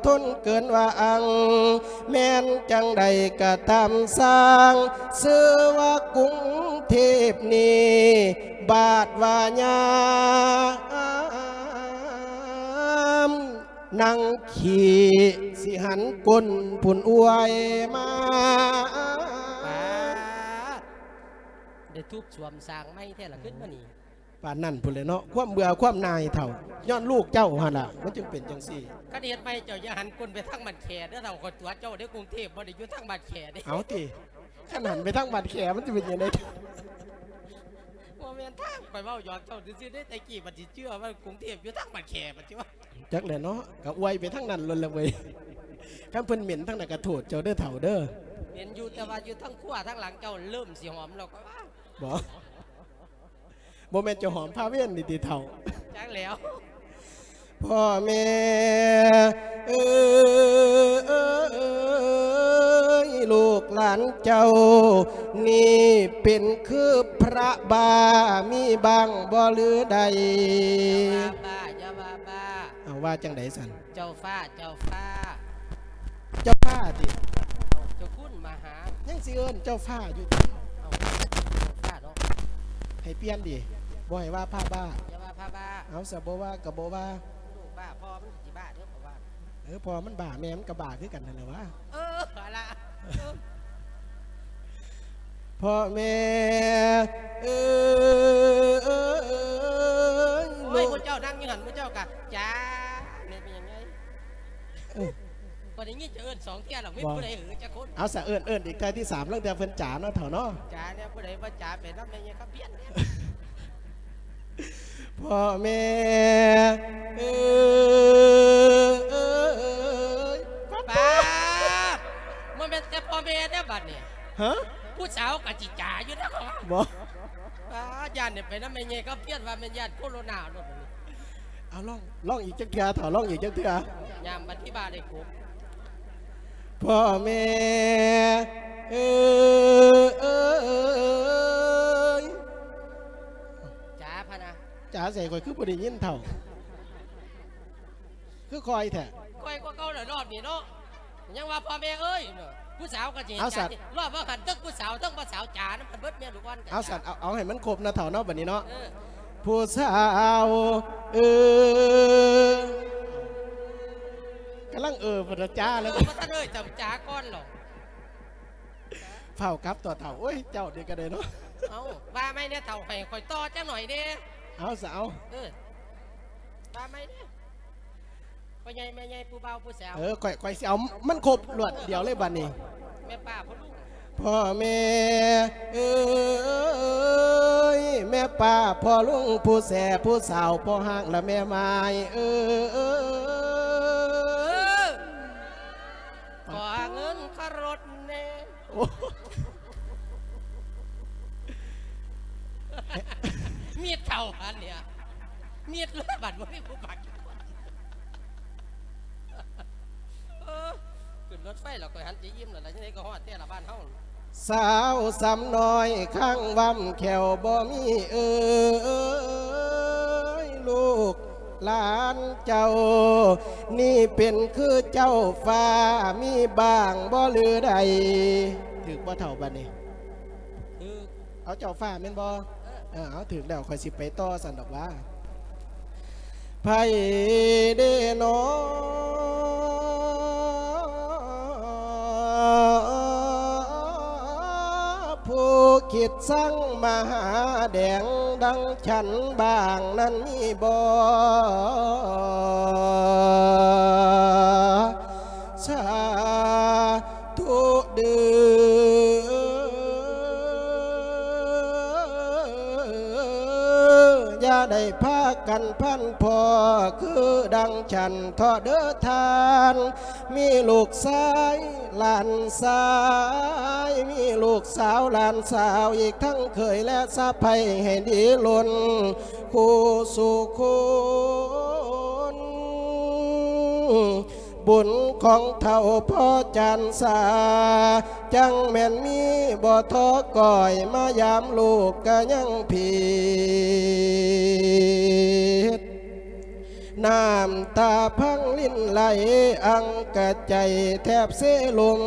ທົນເກີນວ່າອັງ ແມ່ນຈັ່ງໃດກະຕາມຊ່າງ ຊື່ວ່າກຸງເທບນີ້ ບາດວ່າຍາມ ນັ່ງຂີ້ຊິຫັນກົ້ນພຸ້ນອວຍມາ. ປາດ ໄດ້ທຸບສວມສ້າງໃໝ່ແທ້ລະ ຂຶ້ນມານີ້. ປານນັ້ນພຸ້ນແຫຼະເນາະ ຄວາມເບື່ອຄວາມໜ່າຍເຖົ້າ ຍ້ອນລູກເຈົ້າຫັ້ນລະ ມັນຈຶ່ງເປັນຈັ່ງຊີ້. ຄັນເຮັດໃໝ່ເຈົ້າຢ່າຫັນກົ້ນໄປທາງບ້ານແຂເດີເຖົ້າ ຂ້ອຍຕົວະເຈົ້າເດ້ ກຸງເທບບໍ່ໄດ້ຢູ່ທາງບ້ານແຂເດ້. ເອົາຕິ ຄັນຫັນໄປທາງບ້ານແຂມັນຊິເປັນຈັ່ງໃດ? ບໍ່ແມ່ນທາງ ຂ້ອຍເວົ້າຫຍອກເຈົ້າຊື່ໆເດ້ ແຕ່ກີ້ບັດຊິເຊື່ອວ່າກຸງເທບຢູ່ທາງບ້ານແຂບັດຊິວ່າ. ຈັກແຫຼະເນາະ ກະອວຍໄປທາງນັ້ນໂລດລະເວີຍ. ຄັນເພິ່ນເໝັນທາງນັ້ນກະໂທດເຈົ້າເດີເຖົ້າເດີ. ເໝັນຢູ່ ແຕ່ວ່າຢູ່ທາງຄົວທາງຫຼັງເຈົ້າເລີ່ມຊິຫອມແລ້ວ ຂ້ອຍວ່າ. ບໍ່ ບໍ່ແມ່ນເຈົ້າຫອມພາເວນນີ້ຕິເຖົ້າ? ຈັກແລ້ວ. ພໍ່ແມ່ເອີຍ ລູກຫຼານເຈົ້ານີ້ເປັນຄືພະບ້າ ມີບ້າງບໍ່ຫຼືໃດ? ຢ່າວ່າບ້າ ຢ່າວ່າບ້າ. ເອົາ ວ່າຈັ່ງໃດຊັ້ນ? ເຈົ້າຟ້າ ເຈົ້າຟ້າ ເຈົ້າຟ້າຕິ? ເຈົ້າຄຸນມະຫາ ຍັງຊິເອີ້ນເຈົ້າຟ້າຢູ່ຕິ? ເອົາ ເຈົ້າຟ້າເນາະ ໃຫ້ປ່ຽນຕິ ບໍ່ໃຫ້ວ່າພະບ້າ. ຢ່າວ່າພະບ້າ. ເອົາ ສະ ບໍ່ວ່າກະບໍ່ວ່າ. ລູກບ້າພໍ່ມັນຊິບ້າເດີ ເພາະວ່າ ເອີ ພໍ່ມັນບ້າ ແມ່ມັນກະບ້າຄືກັນຫັ້ນແຫຼະຫວາ. ເອີ ຫັ້ນລະ ເອີ. ພໍ່ແມ່ເອີຍ. ໂອ້ຍ ລູກ ໝູ່ເຈົ້ານັ່ງຢູ່ຫັ້ນ ໝູ່ເຈົ້າກະ ຈ້າ ແມ່ນ ເປັນຫຍັງໄງ? ເອີ ຂ້ອຍໄດ້ຍິນເຈົ້າເອີ້ນສອງເທື່ອແລ້ວ ມີຜູ້ໃດເອີຈັກຄົນ? ເອົາຊະ ເອີ້ນ ເອີ້ນອີກເທື່ອທີສາມ ລາງເທື່ອເພິ່ນຈາເນາະ ເຖົ້າເນາະ. ຈາແນວ ຜູ້ໃດບໍ່ຈາໄປນຳແມ່ໃຫຍ່ຄຳພຽນແດ່. ພໍ່ແມ່ເອີຍ. ປາດ ບໍ່ແມ່ນແຕ່ພໍ່ແມ່ເດ້ບັດນີ້. ຮະ? ຜູ້ສາວກະຊິຈາຢູ່ນະ. ບໍ່ ປາດ ຢ້ານໄດ້ໄປນຳແມ່ໃຫຍ່ຄຳພຽນ ວ່າແມ່ນຢ້ານໂຄໂຣນາໂລດບັດນີ້. ເອົາ ລອງ ລອງອີກຈັກເທື່ອ ເຖົ້າ ລອງອີກຈັກເທື່ອ. ຍາມບັດທີ່ບ້າໄດ້ກົບ. ພໍ່ແມ່ເອີຍ. ຈາພະນະ. ຈາໃສ ຂ້ອຍຄືບໍ່ໄດ້ຍິນເຖົ້າ ຄືຄ່ອຍແທ້? ຄ່ອຍກວ່າເກົ່າແລ້ວ ຮອບນີ້ເນາະ. ຍັງວ່າພໍ່ແມ່ເອີຍ ຜູ້ສາວກະຊິ ເອົາສັດ ຈາ ຮອບວ່າຫັ້ນ ທັງຜູ້ສາວທັງບໍ່ສາວຈານຳກັນເບິດ ແມ່ລູກອ່ອນກະ ເອົາສັດ ຈາ ເອົາ ເອົາໃຫ້ມັນຄົບນະເຖົ້າເນາະ ບັດນີ້ເນາະ. ເອີ ຜູ້ສາວເອີຍ. ກຳລັງເອີ ບໍ່ທັນຈາແລ້ວ ເອີ ບໍ່ທັນເອີຍ ຈຳຈາກ່ອນເນາະ. ຟ້າວກັບຕົວະເຖົ້າ. ໂອ້ຍ ເຈົ້ານີ້ກະໄດ້ເນາະ. ເອົາ ວ່າໃໝ່ແດ່ເຖົ້າ ໃຫ້ຂ້ອຍຕໍ່ຈັກໜ້ອຍແດ່. ເອົາຊະ ເອົາ ເອີ ວ່າໃໝ່ແດ່. ພໍ່ໃຫຍ່ແມ່ໃຫຍ່ ຜູ້ບ່າວຜູ້ສາວ. ເອີ ຂ້ອຍ ຂ້ອຍຊິເອົາມັນຄົບລວດດຽວເລີຍບັດນີ້. ແມ່ປ້າພໍ່ລຸງ. ພໍ່ແມ່ເອີຍ ແມ່ປ້າພໍ່ລຸງ ຜູ້ແສຜູ້ສາວ ພໍ່ຮ້າງ ແລະ ແມ່ໝ້າຍເອີຍ. ຂໍເງິນຄ່າລົດແດ່. ໂອ້ ມີດເຂົ້າອັນເນີ້ຍ ມີດເລີຍ ບັດບໍ່ມີຜູ້ປາກ. ເອີ ຂຶ້ນລົດໄຟແລ້ວ ຂ້ອຍຫັນຈະອີ່ມແລ້ວລະ ຈັ່ງໃດກະຮອດແທ້ລະບ້ານເຮົາ. ສາວສ່ຳນ້ອຍຄ້າງວຳແຂ້ວບໍ່ມີເອີຍ ລູກ ຫຼານເຈົ້ານີ້ເປັນຄືເຈົ້າຟ້າ ມີບ້າງບໍ່ຫຼືໃດ? ຖືກບໍ່ເຖົ້າບັດນີ້? ຖືກ. ເອົາເຈົ້າຟ້າແມ່ນບໍ່? ເອີ ເອີ ເອົາ ຖືກແລ້ວ ຂ້ອຍຊິໄປຕໍ່ຊັ້ນດອກຫວາ. ໃຜເດນໍ ຜູ້ຄິດຊັງມະຫາແດງ ດັ່ງ ຊັ້ນບ້າງນັ້ນມີບໍ່? ສາທຸເດີ້ ຢ່າໄດ້ພາກັນພັນພໍ ຄືດັ່ງຊັ້ນເທາະເດີ້ທ່ານ. ມີລູກຊາຍຫຼານຊາຍ ມີລູກສາວຫຼານສາວ ອີກທັງເຂີຍແລະສະໃພ້ ໃຫ້ດີລົ້ນຄູ່ສູ່ຄົນ. ບຸນຂອງເຖົ້າພໍ່ຈານສາ ຈັ່ງແມ່ນມີ ບໍ່ທໍ້ກ້ອຍ ມາຢາມລູກກະຍັງຜິດ. ນ້ຳຕາພັງລິນໄຫຼ ອັ່ງກະໃຈແທບເຊລົງ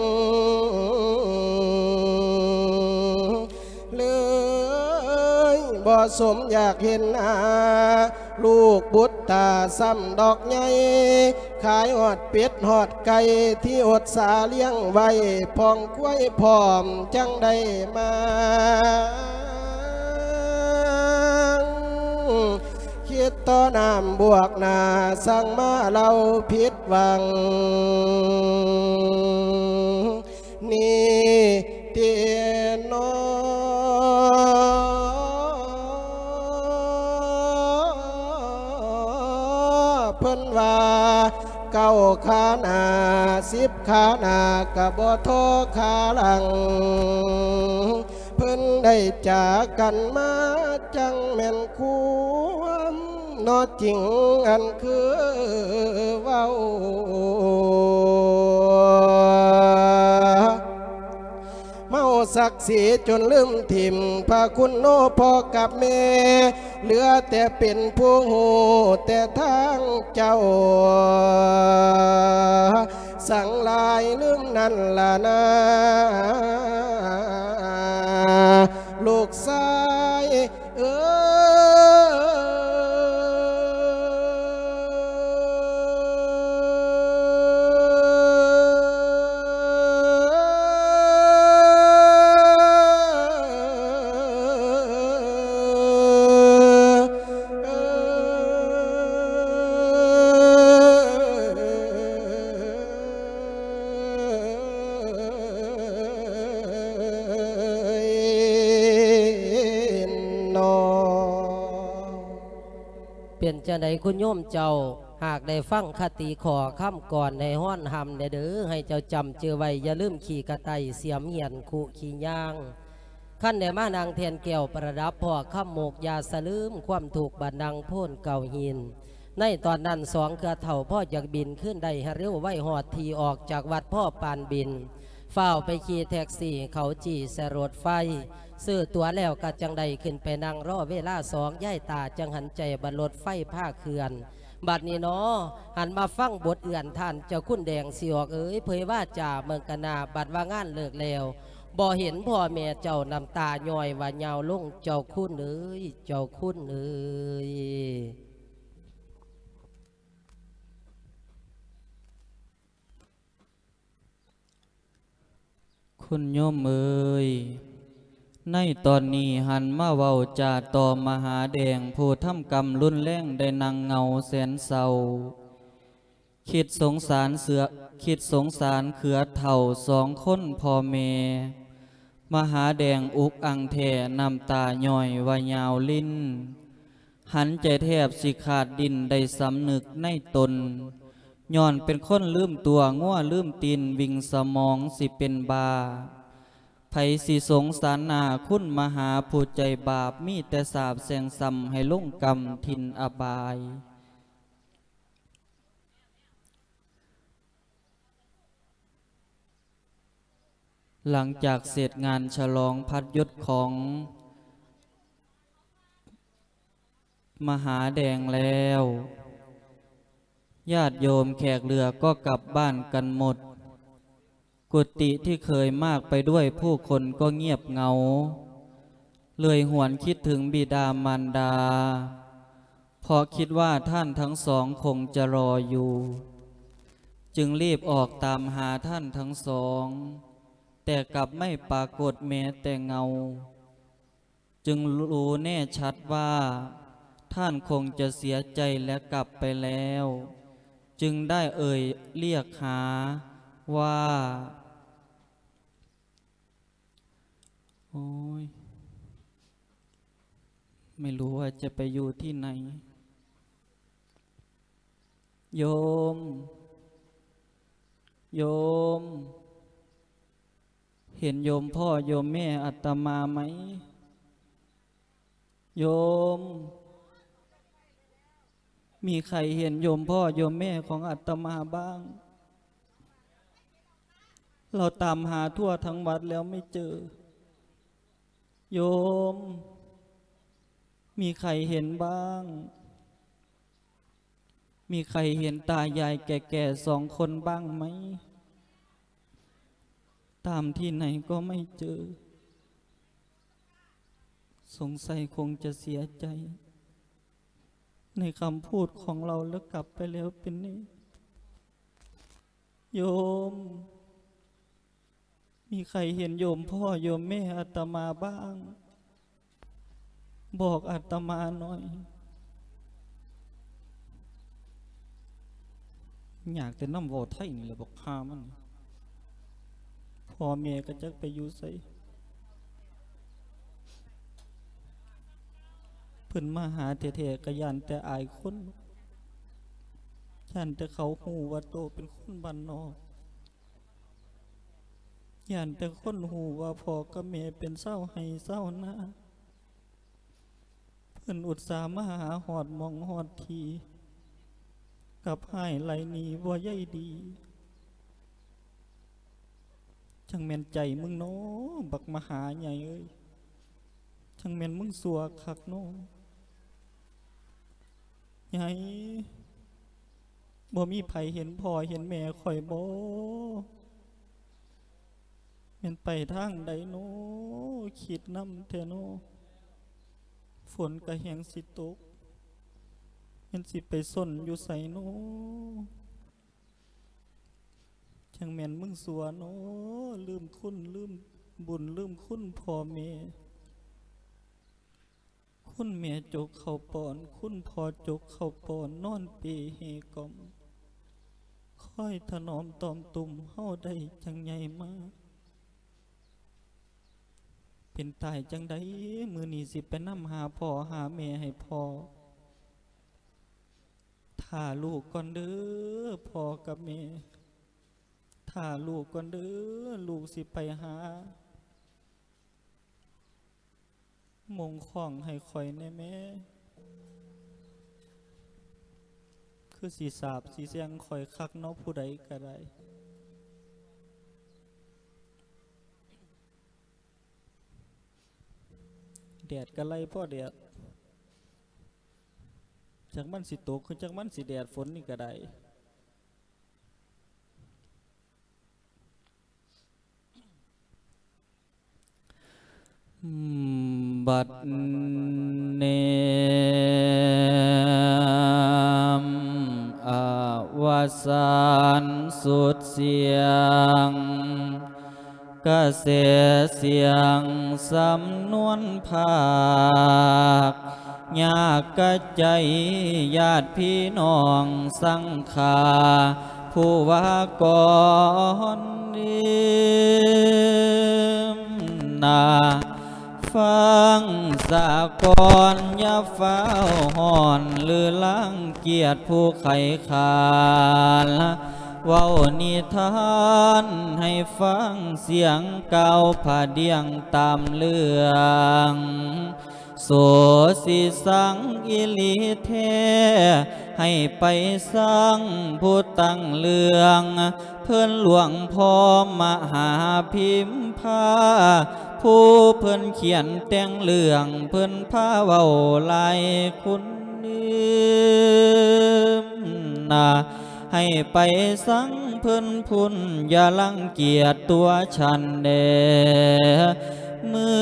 ເລີຍບໍ່ສົມຢາກເຫັນໜ້າ ລູກບຸດຕາຊ້ຳດອກໃຫຍ່ ຂາຍຮອດເປັດຮອດໄກ່ ທີ່ອົດສາລ້ຽງໄວ້ ພ້ອມຄວາຍພ້ອມ ຈັ່ງໄດ້ມາ ຄິດຕໍ່ນ້ຳບວກໜ້າ ຊ່າງມາເລົ່າຜິດຫວັງນີ້ຕິນໍ ເພິ່ນວ່າເກົ້າຂາໜ້າ ສິບຂາໜ້າ ກະບໍ່ທໍ່ຂາຫຼັງ ເພິ່ນໄດ້ຈາກັນມາ ຈັ່ງແມ່ນຄວາມເນາະຈິງ ອັນຄືເວົ້າ ເມົາສັກສີຈົນລືມຖິ້ມ ພະຄຸນໂນພໍ່ກັບແມ່ ເຫຼືອແຕ່ເປັນຜູ້ຮູ້ແຕ່ທາງເຈົ້າ ສັງຫຼາຍລືມນັ້ນລະນາ ລູກຊາຍເອີຍ. ເປັນຈັ່ງໃດຄຸນໂຍມເຈົ້າ? ຫາກໄດ້ຟັງຄະຕິຂໍ້ຄຳກ່ອນໃຫ້ຮ້ອນຮຳແດ່ເດີ ໃຫ້ເຈົ້າຈຳຈື່ໄວ້ ຢ່າລືມຂີ້ກະໄຕ່ສຽມຮຽນຄຸຂີ້ຍ່າງ ຄັນໄດ້ມານັ່ງແທ່ນແກ້ວປະດັບພໍ້ຄຳມຸກ ຢ່າສະລືມຄວາມທຸກບາດນັ່ງໂພນເກົ້າຫີນ. ໃນຕອນນັ້ນສອງເຄືອເຖົ້າພໍຢາກບິນຄືນໄດ້ຮະເລັວໄວ ຮອດທີ່ອອກຈາກວັດພໍປານບິນ ຟ້າວໄປຂີ່ແທັກຊີເຂົາຈີ່ໃສ່ລົດໄຟ ຊື້ຕົ໋ວແລ້ວກະຈັ່ງໄດ້ຂຶ້ນໄປນັ່ງລໍເວລາສອງ ຍາຍຕາຈັ່ງຫັນໃຈບັດລົດໄຟພາເຄື່ອນ. ບັດນີ້ໜໍ ຫັນມາຟັງບົດເອື້ອນທ່ານເຈົ້າຄຸນແດງຊິອອກເອີຍ ເຜີຍວາຈາເບິ່ງກະໜ້າ ບັດວ່າງານເລີກແລ້ວ ບໍ່ເຫັນພໍ່ແມ່ເຈົ້າ ນ້ຳຕາຍ້ອຍວ່າຍາວລົງ ເຈົ້າຄຸນເອີຍ ເຈົ້າຄຸນເອີຍ. ຄຸນໂຍມເອີຍ, ໃນຕອນນີ້ຫັນມາເວົ້າຈາຕໍ່ມະຫາແດງ ຜູ້ທຳກຳລຸນແລງໄດ້ນັ່ງເຫງົາແສນເສົ້າ. ຄິດສົງສານເສືອ ຄິດສົງສານເຄືອເຖົ້າສອງຄົນພໍ່ແມ່. ມະຫາແດງອຸກອັ່ງແທ້ ນ້ຳຕາຍ້ອຍວ່າຍາວລິນ. ຫັນໃຈແທບຊິຂາດດິ້ນໄດ້ສຳນຶກໃນຕົນ. ຍ້ອນເປັນຄົນລືມຕົວ ງົວລືມຕີນ ວິ່ງສະໝອງຊິເປັນບ້າ. ໃຜຊິສົງສານໜ້າຄຸນມະຫາຜູ້ໃຈບາບ ມີແຕ່ສາບແຊ່ງຊ້ຳໃຫ້ລົງກຳຖິ່ນອະບາຍ. ຫຼັງຈາກເສັດງານສະຫຼອງພັດຢຸດຂອງມະຫາແດງແລ້ວ, ຍາດໂຍມແຂກເຫຼືອກໍກັບບ້ານກັນໝົດ. ກຸຕິທີ່ເຄີຍມາກໄປດ້ວຍຜູ້ຄົນກໍງຽບເຫງົາ. ເລີຍຫວນຄິດເຖິງບິດາມານດາ, ເພາະຄິດວ່າທ່ານທັງສອງຄົງຈະລໍຢູ່, ຈຶ່ງລີບອອກຕາມຫາທ່ານທັງສອງ, ແຕ່ກັບໄມ່ປາກົດແມ້ແຕ່ເງົາ. ຈຶ່ງຮູ້ແນ່ຊັດວ່າທ່ານຄົງຈະເສຍໃຈແລະກັບໄປແລ້ວ, ຈຶ່ງໄດ້ເອີ່ຍລຽກຫາວ່າ ໂອ້ຍ ໄມ່ຮູ້ວ່າຈະໄປຢູ່ທີ່ໃນ. ໂຍມ, ໂຍມ, ເຫັນໂຍມພໍ່ໂຍມແມ່ອາດຕະມາໄໝ? ໂຍມ, ມີໃຜເຫັນໂຍມພໍ່ໂຍມແມ່ຂອງອາດຕະມາບ້າງ? ເຮົາຕາມຫາທົ່ວທັງວັດແລ້ວໄມ່ເຈີ. ໂຍມ, ມີໃຜເຫັນບ້າງ? ມີໃຄເຫັນຕາຍາຍແກ່ໆສອງຄົນບ້າງໄໝ? ຕາມທີ່ໄຫນກໍໄມ່ເຈີ. ສົງໄສຄົງຈະເສຍໃຈໃນຄຳພູດຂອງລາວ ແລ້ວກັບໄປແລ້ວເປັນແນ່. ໂຍມ ມີໃຄເຫັນໂຍມພໍ່ໂຍມແມ່ອາດຕະມາບ້າງ? ບອກອາດຕະມາໜ່ອຍ. ຍາກແຕ່ນຳເວົ້າໄທນີ້ແຫຼະ ບັກຫ່າມັນ. ພໍ່ແມ່ກໍຈັກໄປຢູ່ໃສ. ເພິ່ນມາຫາແທ້ໆ ກໍຢ້ານແຕ່ອາຍຄົນ, ຢ້ານແຕ່ເຂົາຮູ້ວ່າໂຕເປັນຄົນບ້ານນອກ. ຢ້ານແຕ່ຄົນຮູ້ວ່າພໍ່ກັບແມ່ເປັນຊາວໄຮ່ຊາວນາ. ເພິ່ນອຸດສາມາຫາຮອດໝ່ອງຮອດທີ່, ກັບຮ້າຍໄລ່ໜີບໍ່ໃຍດີ. ຈັ່ງແມ່ນໃຈມຶງເນາະ ບັກມະຫາໃຫຍ່ເອີຍ, ຈັ່ງແມ່ນມຶງຊົ່ວຄັກເນາະ. ໃຫຍ່ ບໍ່ມີໃຜເຫັນພໍ່ເຫັນແມ່ຂ້ອຍບໍ? ແມ່ນໄປທາງໃດນໍ? ຄິດນຳແທ້ນໍ. ຝົນກະແຮງຊິຕົກ, ແມ່ນຊິໄປຊົນຢູ່ໃສນໍ? ຈັ່ງແມ່ນມຶງຊົ່ວນໍ, ລືມຄຸນລືມບຸນລືມຄຸນພໍ່ແມ່. ຄຸນແມ່ຈົກເຂົ້າປ້ອນ, ຄຸນພໍ່ຈົກເຂົ້າປ້ອນ, ນອນເປເຮກ່ອມ, ຄອຍຖະໜອມຕອມຕຸ່ມເຮົາໄດ້ຈັ່ງໃຫຍ່ມາ. ເປັນຕາຍຈັ່ງໃດ ມື້ນີ້ຊິໄປນຳຫາພໍ່ຫາແມ່ໃຫ້ພໍ່. ຖ້າລູກກ່ອນເດີ ພໍ່ກັບແມ່, ຖ້າລູກກ່ອນເດີ ລູກຊິໄປຫາ. ມົງຄ້ອງໃຫ້ຂ້ອຍແດ່ແມ່. ຄືຊິສາບຊິແຊ່ງຂ້ອຍຄັກເນາະ ຜູ້ໃດກໍໄດ້. ແດດກໍໄລ່ພໍແດດ, ຈັກມັນຊິຕົກ ຄືຈັກມັນຊິແດດ ຝົນນີ້ກໍໄດ້. ບັດນີ້ ອະວະສານສຸດສຽງ ກະແສສຽງສຳນວນພາກ ຍາກກະໃຈຍາດພີ່ນ້ອງສັງຄາ ຜູ້ວ່າກ່ອນນີ້ນາ ຟັງສາກ່ອນ ຢ່າຟ້າວຮ້ອນ ຫຼືລັງກຽດຜູ້ໄຂ້ຄານ ເວົ້ານິທານໃຫ້ຟັງ ສຽງກ່າວພະດຽງຕາມເລື່ອງ ໂສຊິສັງອີ່ຫຼີແທ້ ໃຫ້ໄປສັງຜູ້ຕັ້ງເລື່ອງ ເພິ່ນຫຼວງພໍ່ມະຫາພິມພາ ຜູ້ເພິ່ນຂຽນແຕ່ງເລື່ອງ ເພິ່ນພາເວົ້າຫຼາຍຄຸນນາ ໃຫ້ໄປສັງເພິ່ນພຸ້ນ ຢ່າລັງກຽດຕົວສັນແດ່. ມື້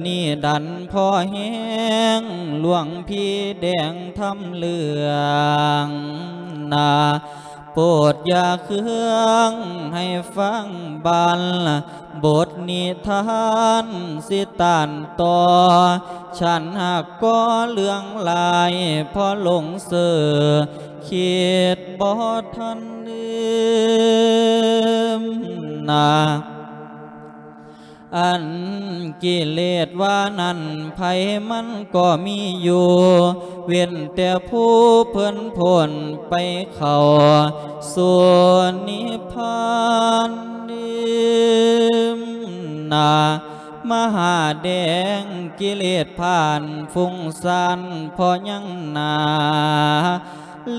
ນີ້ດັນພໍແຮງ ຫຼວງພີ່ແດງທຳເລື່ອງນາ ໂປດຢ່າເຄືອງໃຫ້ຟັງບັນ ບົດນິທານຊິຕ້ານຕໍ່ ສັນຫາກກໍເລື່ອງຫຼາຍ ພໍຫຼົງເສີ ຄິດບໍ່ທັນລືມນາ. ອັນກິເລດວ່ານັ້ນ ໃຜມັນກໍມີຢູ່ ເວັ້ນແຕ່ຜູ້ເພິ່ນພົ້ນໄປເຂົ້າສູ່ນິບພານນາ ມະຫາແດງກິເລດພານຟຸ້ງຊານພໍຍັງໜາ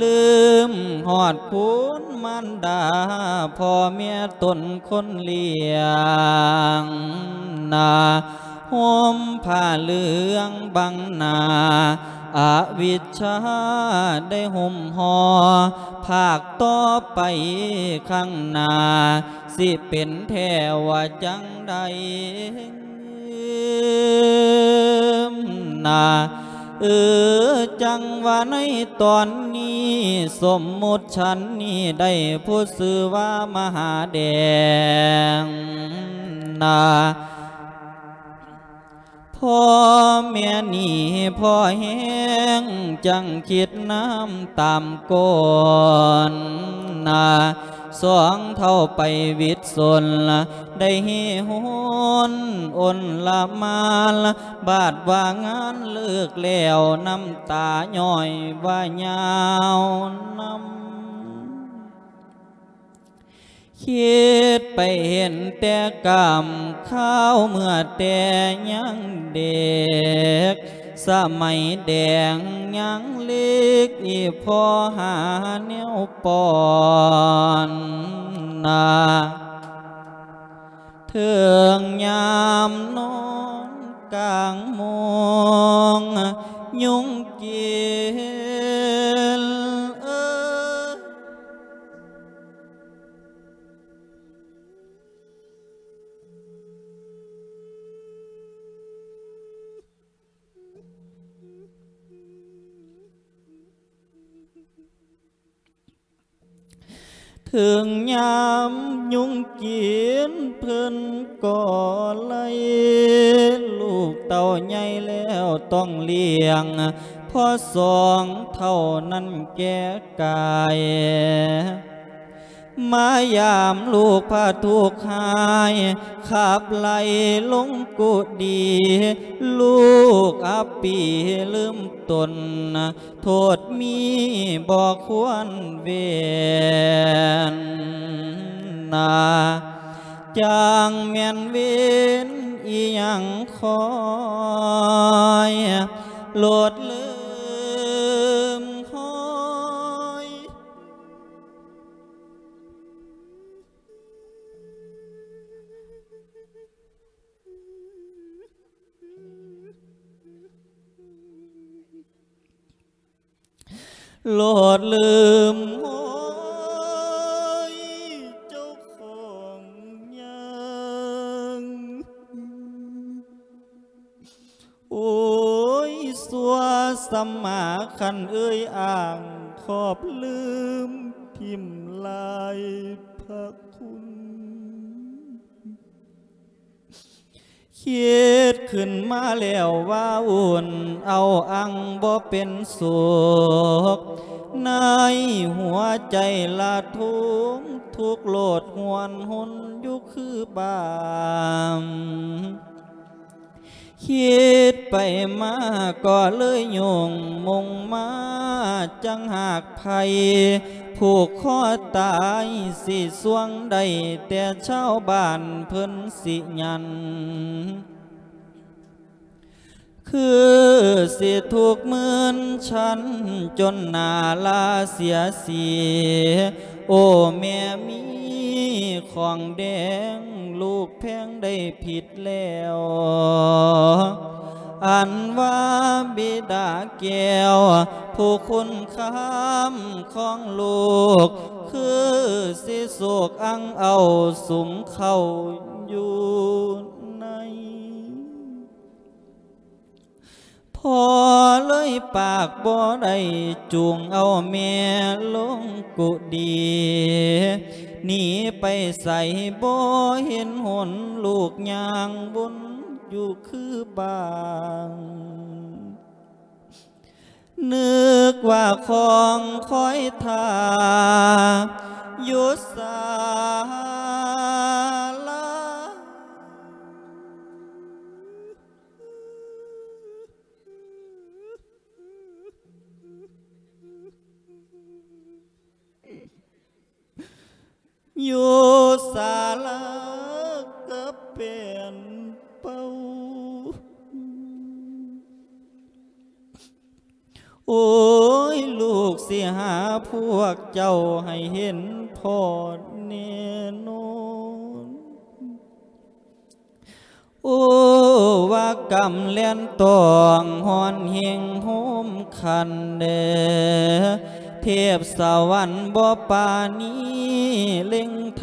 ລືມຮອດຄຸນມານດາ ພໍ່ແມ່ຕົນຄົນລ້ຽງນາ ຫົ່ມຜ້າເຫຼືອງບັງໜ້າ ອະວິດຊາໄດ້ຫຸ້ມຫໍ່ ພາກຕໍ່ໄປຂ້າງໜ້າ ຊິເປັນແທ້ວ່າຈັ່ງໃດນາ. ເອີ ຈັ່ງວ່າໃນຕອນນີ້ ສົມມຸດສັນນີ້ໄດ້ຜູ້ຊື່ວ່າມະຫາແດງນາ. ພໍ່ແມ່ນີ້ພໍແຮງ ຈັ່ງຄິດນຳຕາມກ່ອນນາ. ສອງເຖົ້າໄປວິດສົນ ໄດ້ເຮ່ຮົນອົນລະມານ ບາດວ່າງານເລີກແລ້ວ ນ້ຳຕາຍ້ອຍວ່າຍາວນຳ. ຄິດໄປເຫັນແຕ່ກາມຄາວເມື່ອແຕ່ຍັງເດັກ ສະໄໝແດງຍັງເລັກ ອີ່ພໍ່ຫາແນວປ້ອນນາ. ເຖິງຍາມນອນກາງໂມງ ຍຸງກິນເອີຍ. ເຖິງຍາມຍຸງກິນເພິ່ນກໍໄລ່ ລູກເຕົ້າໃຫຍ່ແລ້ວຕ້ອງລ້ຽງ ພໍສອງເທົ່ານັ້ນແກ່ກາຍ. ມາຢາມລູກພະທຸກຮ້າຍ ຂັບໄລ່ລົງກຸດີ ລູກອັບປີລືມຕົນ ໂທດມີບໍ່ຄວນເວນນາ ຈັ່ງແມ່ນເວນອີ່ຫຍັງຄອຍ ໂລດລືມຮອຍ. ໂລດລືມຮອຍເຈົ້າຂອງຍັງ ໂອ້ຍ ຊົ່ວສຳມາຄັນເອີຍອ້າງ ຂອບລືມຖິ້ມລາຍພະຄຸນ. ຄິດຂຶ້ນມາແລ້ວວ່າອຸ່ນເອົາອັ່ງບໍ່ເປັນສຸກ ໃນຫົວໃຈລະທຸມທຸກໂລດຫວນຫົນຢູ່ຄືບາງ. ຄິດໄປມາກໍເລີຍຫຍຸ້ງມຸງມາ ຈັ່ງຫາກໃຜຜູກຄໍຕາຍ ຊິຊ່ວງໄດ້ແຕ່ຊາວບ້ານເພິ່ນຊິຢັນ ຄືຊິທຸກມື່ນຊັນຈົນໜ້າລາເສຍສີ. ໂອ້ ແມ່ມີຂອງແດງ ລູກແພງໄດ້ຜິດແລ້ວ ອັນວ່າບິດາແກ້ວ ຜູ້ຄຸນຄຳຂອງລູກ ຄືຊິໂສກອັ່ງເອົາສຸມເຂົ້າຢູ່ໃນ. ພໍ່ເລີຍປາກບໍ່ໄດ້ ຈູງເອົາແມ່ລົງກຸດີ ໜີໄປໃສບໍ່ເຫັນຫົນ ລູກຍ່າງວົນຢູ່ຄືບາງ ນຶກວ່າຂອງຄອຍທ່າຢູ່ສາລາ. ຢູ່ສາລາກະແປນເປົ່າ ໂອ້ຍ ລູກຊິຫາພວກເຈົ້າໃຫ້ເຫັນພໍ້ແນ່ນອນ. ໂອ້ ວ່າກຳແລ່ນຕອງ ຮ້ອນເຮັງໂຮມ ຄັນເດີ ເທບສະຫວັນບໍ່ປານີ ເລັ່ງ